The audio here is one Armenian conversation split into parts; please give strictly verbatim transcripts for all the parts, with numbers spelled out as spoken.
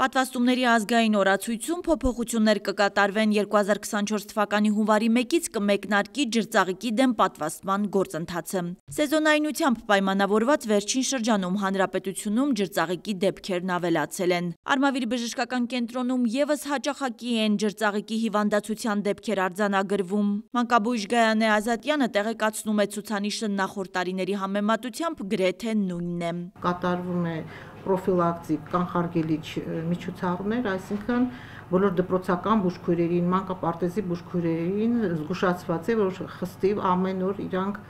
Պատվաստումների ազգային օրացույցում փոփոխություններ կկատարվեն երկու հազար քսանչորս թվականի հունվարի մեկից կմեկնարկի ջրծաղիկի դեմ պատվաստման գործընթացը։ Սեզոնայնությամբ պայմանավորված վերջին շրջանում հանրապետությունում ջրծաղիկի դեպքերն ավելացել են։ Արմավիր բժշկական կենտրոնում ևս հաճախակի են ջրծաղիկի հիվանդացության դեպքեր արձանագրվում։ Մանկաբույժ Գայանե Ազատյանը տեղեկացնում է, ցուցանիշը նախորդ տարիների համեմատությամբ գրեթե նույնն է։ Կատարվում է պրոֆիլակտիկ կանխարգելիչ միջոցառումներ, այսինքն բոլոր դպրոցական բուժքույրերին, մանկապարտեզի բուժքույրերին զգուշացված է, որ խստիվ ամեն օր իրանք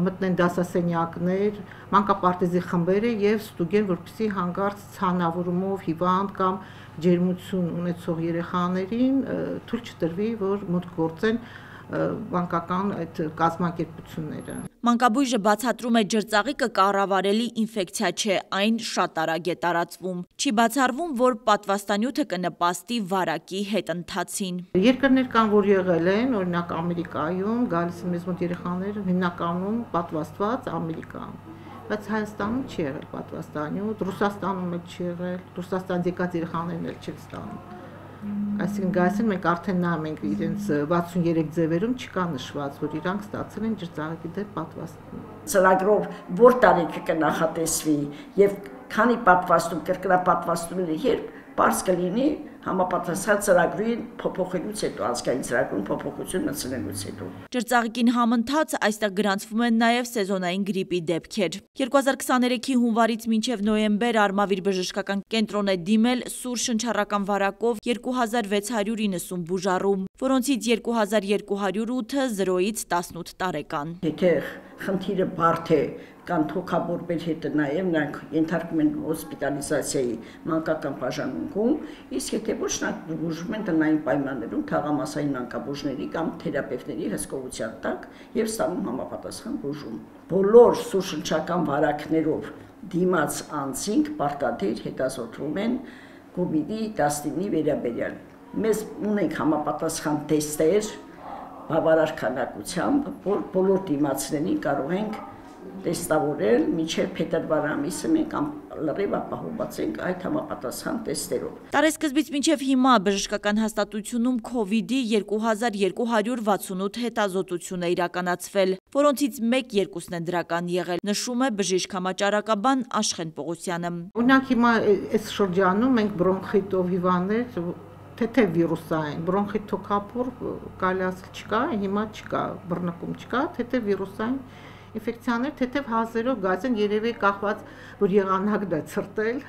մտնեն դասասենյակներ, մանկապարտեզի խմբերը եւ ստուգեն, որպեսզի հանկարծ ցանավորումով հիվանդ կամ ջերմություն ունեցող երեխաներին թույլ չտրվի, որ մուտք գործեն մանկական այդ կազմակերպությունները։ Մանկաբույժը բացատրում է, ջրծաղիկը կառավարելի ինֆեկցիա չէ, այն շատ արագ է տարածվում։ Չի բացառվում, որ պատվաստանյութը կնպաստի վարակի հետընթացին։ Երկրներ կան, որ եղել են, օրինակ Ամերիկայում, գալիս են մեզ մոտ երեխաներ հիմնականում պատվաստված Ամերիկան, բայց Հայաստանում չի եղել պատվաստանյութ, Ռուսաստանում էլ չի եղել, Ռուսաստանից եկած երեխաներն էլ չեն ստանում։ Այսինքն գայսեն մենք արդեն նայում ենք իրենց վաթսուններեք ձևերում չկա նշված, որ իրանք ստացել են ջրծաղիկի դեմ պատվաստում։ Ծրագրով որ տարիքը կնախատեսվի եւ քանի պատվաստում կրկնապատվաստումների երբ պարզ կլինի համապատասխան ծրագրի փոփոխելուց հետո, ազգային ծրագրում փոփոխություն մտցնելուց հետո։ Ջրծաղիկին համընթաց այստեղ գրանցվում են նաև սեզոնային գրիպի դեպքեր։ երկու հազար քսաներեքի հունվարից մինչև նոյեմբեր Արմավիր բժշկական կենտրոն է դիմել սուր շնչառական վարակով երկու հազար վեց հարյուր իննսուն բուժառու, որոնցից երկու հազար երկու հարյուր ութը զրոյից տասնութ տարեկան։ Եթե խնդիրը բարդ է կամ թոքաբորբեր հետը նաև նրանք ենթարկվում են հոսպիտալիզացիայի մանկական բաժանմունքում, իսկ եթե ոչ նրանք բուժվում են տնային պայմաններում թաղամասային մանկաբույժների կամ թերապևտների հսկողության տակ եւ ստանում համապատասխան բուժում։ Բոլոր սուրշնչական վարակներով դիմաց անձինք պարտադիր հետազոտվում են կովիդի տասնինի վերաբերյալ։ Մեզ ունենք համապատասխան թեստեր բավարար քանակությամբ, որ բոլոր դիմացներին կարող ենք տեստավորել մինչև փետրվար ամիսը մենք լրիվ ապահովված ենք այդ համապատասխան տեստերով։ Տարեսկզբից մինչև հիմա բժշկական հաստատությունում քովիդի երկու հազար երկու հարյուր վաթսունութ հետազոտություն է իրականացվել, որոնցից մեկ-երկուսն են դրական եղել, նշում է բժիշկ համաճարակաբան Աշխեն Պողոսյանը։ Օրինակ հիմա այս շրջանում մենք բրոնխիտով հիվանդներ թեթև վիրուսային, բրոնխիտ թոքաբոր կարելի ասել չկա, հիմա չկա, բռնկում չկա, թեթև վիրուսային ինֆեկցիաներ թեթև հազերով գայց են, երևի կախված, որ եղանակն է ցրտել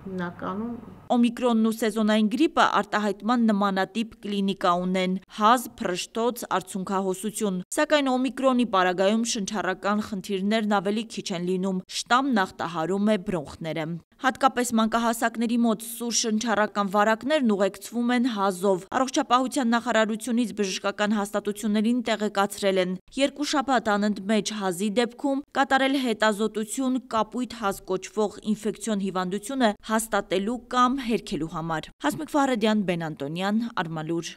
հիմնականում։ Օմիկրոնն ու սեզոնային գրիպը արտահայտման նմանատիպ կլինիկա ունեն՝ հազ, փռշտոց, արցունքահոսություն, սակայն օմիկրոնի պարագայում շնչառական խնդիրներն ավելի քիչ են լինում, շտամն ախտահարում է բրոնխները։ Հատկապես մանկահասակների մոտ սուր շնչառական վարակներն ուղեկցվում են հազով։ Առողջապահության նախարարությունից բժշկական հաստատություններին տեղեկացրել են երկու շաբաթ անընդմեջ հազի դեպքում կատարել հետազոտություն կապույտ հազ կոչվող ինֆեկցիոն հիվանդությունը հաստատելու կամ հերքելու համար։ Հասմիկ Ֆարեդյան, Բեն Անտոնյան, Արմալուր։